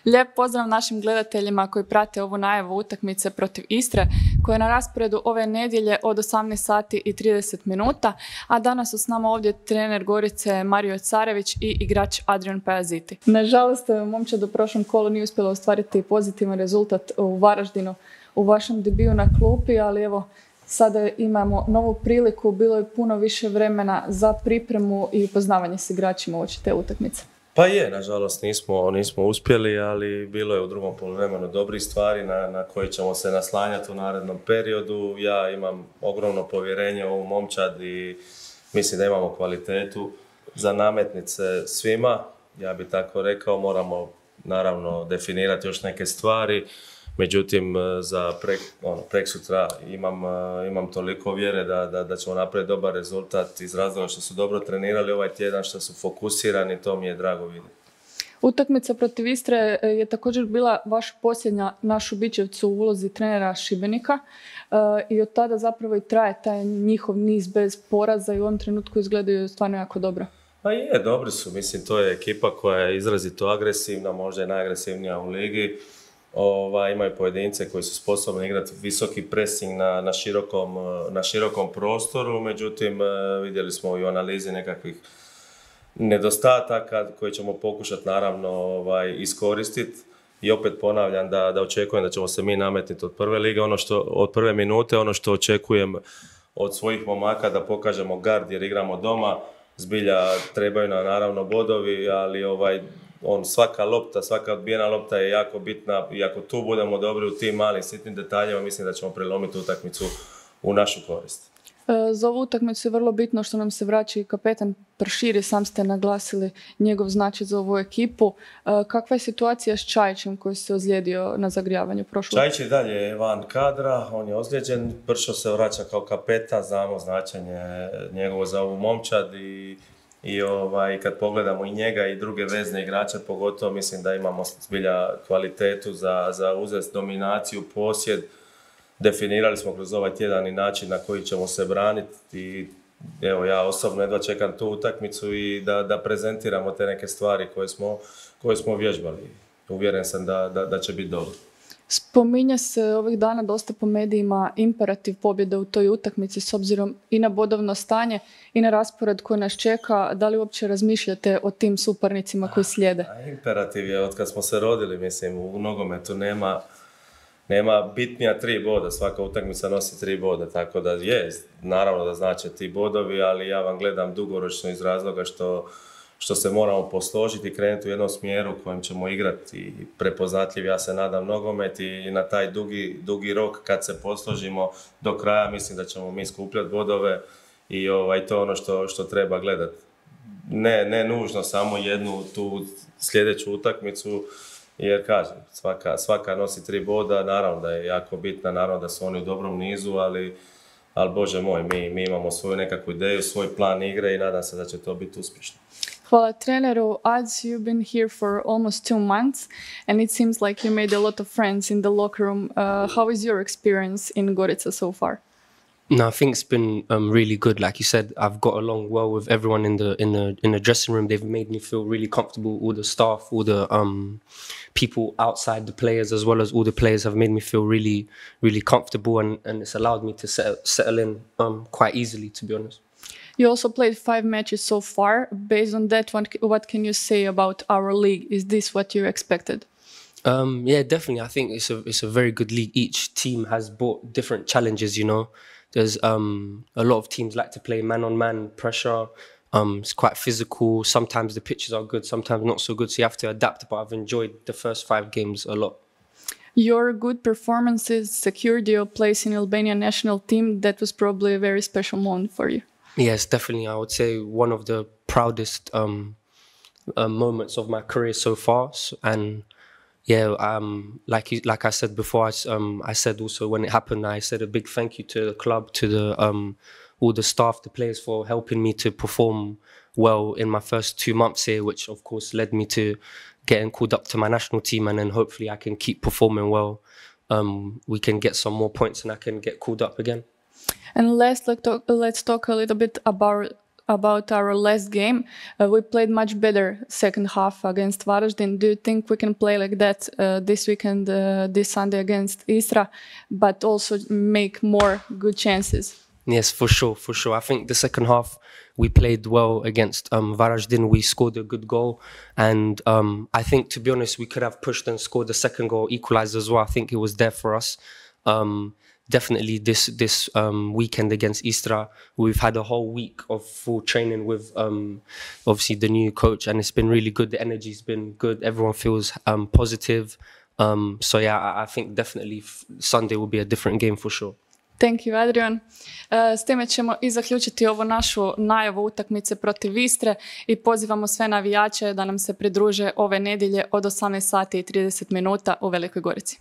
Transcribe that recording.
Lijep pozdrav našim gledateljima koji prate ovu najavu utakmice protiv Istre, koja je na rasporedu ove nedjelje od 18 sati i 30 minuta, a danas su s nama ovdje trener Gorice Mario Carević i igrač Adrian Pajaziti. Nažalost, momčad u prošlom kolu nije uspjela ostvariti pozitivan rezultat u Varaždinu u vašem debiju na klupi, ali evo, sada imamo novu priliku, bilo je puno više vremena za pripremu i upoznavanje s igračima uoči te utakmice. Pa je, nažalost nismo uspjeli, ali bilo je u drugom poluvremenu dobrih stvari na koje ćemo se naslanjati u narednom periodu. Ja imam ogromno povjerenje u ovu momčad i mislim da imamo kvalitetu za nametnice svima. Ja bih tako rekao, moramo naravno definirati još neke stvari. Međutim, za preksutra imam toliko vjere da ćemo napraviti dobar rezultat iz razloga što su dobro trenirali ovaj tjedan, što su fokusirani, to mi je drago vidjeti. Utakmica protiv Istre je također bila vaša posljednja na Šubićevcu u ulozi trenera Šibenika i od tada zapravo i traje taj njihov niz bez poraza i u ovom trenutku izgledaju stvarno jako dobro. Pa je, dobri su. Mislim, to je ekipa koja je izrazito agresivna, možda je najagresivnija u ligi. Imaju pojedince koji su sposobni igrati visoki pressing na širokom prostoru, međutim vidjeli smo i u analizi nekakvih nedostataka koje ćemo pokušati naravno iskoristiti. I opet ponavljam da očekujem da ćemo se mi nametniti od prve lige, od prve minute, ono što očekujem od svojih momaka da pokažemo gard jer igramo doma. Zbilja trebaju nam naravno bodovi, ali svaka lopta, svaka odbijena lopta je jako bitna i ako tu budemo dobri u tim malim sitnim detaljima, mislim da ćemo prelomiti utakmicu u našu korist. Za ovu utakmicu je vrlo bitno što nam se vraća i kapetan Prširi, sam ste naglasili njegov značaj za ovu ekipu. Kakva je situacija s Čajićem koji se ozlijedio na zagrijavanju prošlog? Čajić je dalje van kadra, on je ozlijeđen, Pršo se vraća kao kapetan, znamo značenje njegovo za ovu momčad i kad pogledamo i njega i druge vezne igrače, pogotovo mislim da imamo zbilja kvalitetu za uzeti dominaciju, posjed. Definirali smo kroz ovaj tjedan i način na koji ćemo se braniti i evo ja osobno jedva čekam tu utakmicu i da prezentiramo te neke stvari koje smo vježbali. Uvjeren sam da će biti dobro. Spominje se ovih dana dosta po medijima imperativ pobjede u toj utakmici s obzirom i na bodovno stanje i na raspored koji nas čeka. Da li uopće razmišljate o tim suparnicima koji slijede? Imperativ je od kad smo se rodili, mislim, u nogometu nema bitnija 3 boda, svaka utakmica nosi 3 boda, tako da je, naravno da znače ti bodovi, ali ja vam gledam dugoročno iz razloga što se moramo posložiti i krenuti u jednom smjeru u kojem ćemo igrati i prepoznatljiv, ja se nadam, nogomet i na taj dugi rok kad se posložimo do kraja, mislim da ćemo mi skupljati bodove i to je ono što treba gledati. Ne nužno samo jednu tu sljedeću utakmicu, jer kažem, svaka nosi 3 boda, naravno da je jako bitna, naravno da su oni u dobrom nizu, ali Bože moj, mi imamo svoju nekakvu ideju, svoj plan igre i nadam se da će to biti uspješno. Hvala treneru. Ads, you've been here for almost 2 months and it seems like you made a lot of friends in the locker room. How is your experience in Gorica so far? No, I think it's been really good. Like you said, I've got along well with everyone in the dressing room. They've made me feel really comfortable. All the staff, all the people outside the players, as well as all the players, have made me feel really, really comfortable, and it's allowed me to settle in quite easily, to be honest. You also played 5 matches so far. Based on that, what can you say about our league? Is this what you expected? Yeah, definitely. I think it's a very good league. Each team has brought different challenges, you know. There's a lot of teams like to play man-on-man pressure. It's quite physical. Sometimes the pitches are good, sometimes not so good, so you have to adapt. But I've enjoyed the first 5 games a lot. Your good performances secured your place in Albania national team. That was probably a very special moment for you. Yes, definitely. I would say one of the proudest moments of my career so far. And yeah, like I said before, I said also when it happened, I said a big thank you to the club, to all the staff, the players for helping me to perform well in my first 2 months here, which of course led me to getting called up to my national team, and then hopefully I can keep performing well. We can get some more points and I can get called up again. And let's talk a little bit about about our last game. We played much better second half against Varaždin. Do you think we can play like that this weekend, this Sunday against Istra, but also make more good chances? Yes, for sure, for sure. I think the second half we played well against Varaždin. We scored a good goal, and I think, to be honest, we could have pushed and scored the second goal, equalised as well. I think it was there for us. Definitely this weekend against Istra, we've had a whole week of full training with obviously the new coach, and it's been really good. The energy's been good. Everyone feels positive. So yeah, I think definitely Sunday will be a different game for sure. Thank you, Adrian. S time ćemo i zaključiti ovu našu najavu utakmice protiv Istre i pozivamo sve navijače da nam se pridruže ove nedjelje od 18 sati i 30 minuta u Velikoj Gorici.